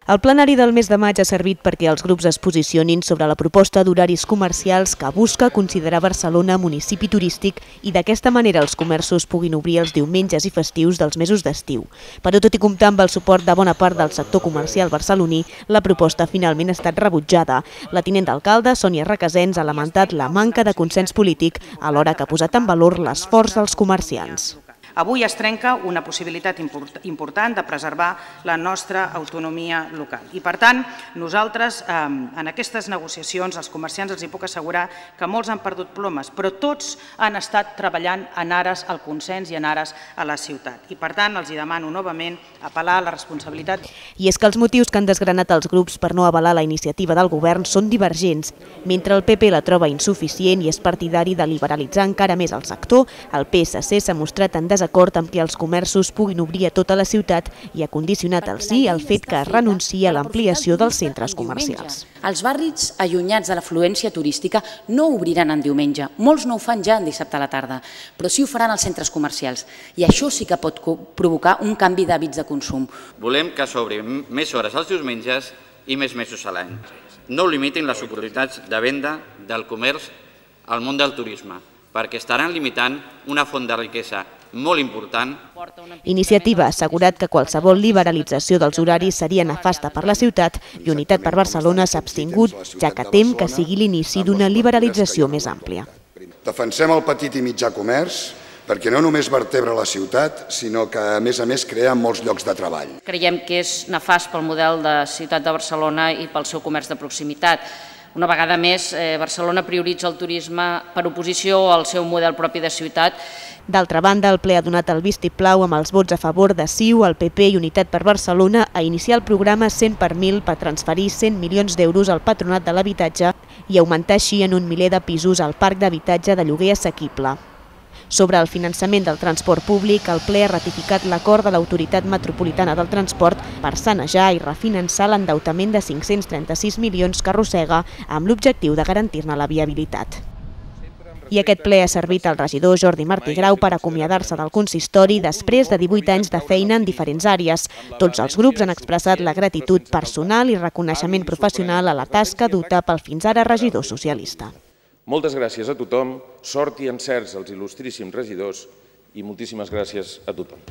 El plenari del mes de maig ha servit perquè els grups es posicionin sobre la proposta d'horaris comercials que busca considerar Barcelona municipi turístic i d'aquesta manera els comerços puguin obrir els diumenges i festius dels mesos d'estiu. Però tot i comptar amb el suport de bona part del sector comercial barceloní, la proposta finalment ha estat rebutjada. La tinent d'alcalde, Sònia Requesens, ha lamentat la manca de consens polític alhora que ha posat en valor l'esforç dels comerciants. Avui es trenca una possibilitat important de preservar la nostra autonomia local. I, per tant, nosaltres, en aquestes negociacions, els comerciants els puc assegurar que molts han perdut plomes, però tots han estat treballant en ares al consens i en ares a la ciutat. I, per tant, els demano novament apel·lar a la responsabilitat. I és que els motius que han desgranat els grups per no avalar la iniciativa del govern són divergents. Mentre el PP la troba insuficient i és partidari de liberalitzar encara més el sector, el PSC s'ha mostrat en desacord amb que els comerços puguin obrir a tota la ciutat i ha condicionat el sí al fet que es renuncia a l'ampliació dels centres comercials. Els barris allunyats de l'afluència turística no obriran en diumenge. Molts no ho fan ja en dissabte a la tarda, però sí ho faran als centres comercials. I això sí que pot provocar un canvi d'hàbits de consum. Volem que s'obrin més hores els diumenges i més mesos a l'any. No limitin les oportunitats de venda del comerç al món del turisme, perquè estaran limitant una font de riquesa molt important. Iniciativa ha assegurat que qualsevol liberalització dels horaris seria nefasta per la ciutat i Unitat per Barcelona s'ha abstingut, ja que tem que sigui l'inici d'una liberalització més àmplia. Defensem el petit i mitjà comerç perquè no només vertebra la ciutat, sinó que a més crea molts llocs de treball. Creiem que és nefast pel model de ciutat de Barcelona i pel seu comerç de proximitat. Una vegada més, Barcelona prioritza el turisme per oposició al seu model propi de ciutat. D'altra banda, el ple ha donat el vistiplau amb els vots a favor de CiU, el PP i Unitat per Barcelona a iniciar el programa 100 per 1000 per transferir 100 milions d'euros al Patronat de l'Habitatge i augmentar així en 1 miler de pisos al parc d'habitatge de lloguer assequible. Sobre el finançament del transport públic, el ple ha ratificat l'acord de l'Autoritat Metropolitana del Transport per sanejar i refinançar l'endeutament de 536 milions que arrossega amb l'objectiu de garantir-ne la viabilitat. I aquest ple ha servit al regidor Jordi Martí Grau per acomiadar-se del consistori després de 18 anys de feina en diferents àrees. Tots els grups han expressat la gratitud personal i reconeixement professional a la tasca duta pel fins ara regidor socialista. Moltes gràcies a tothom, sort i encerts als il·lustríssims regidors i moltíssimes gràcies a tothom.